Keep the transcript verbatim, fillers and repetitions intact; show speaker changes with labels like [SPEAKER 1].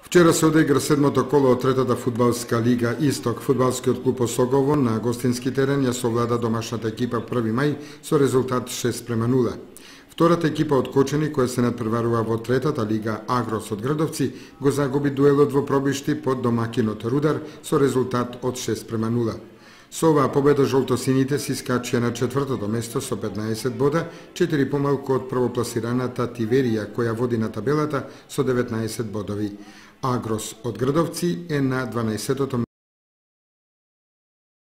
[SPEAKER 1] Вчера се одигра седмото коло од третата фудбалска лига Исток. Фудбалскиот клуб Осогово на гостински терен ја совлада домашната екипа први мај со резултат шест према нула. Втората екипа од Кочани, која се надпреварува во третата лига Агрос од Градовци, го загуби дуелот во пробишти под домакинот Рудар со резултат од шест према нула. Со оваа победа жолтосините си скачија на четвртото место со петнаесет бода, четири помалку од првопласираната Тиверија, која води на табелата со деветнаесет бодови. Агрос од Градовци е на дванаесеттото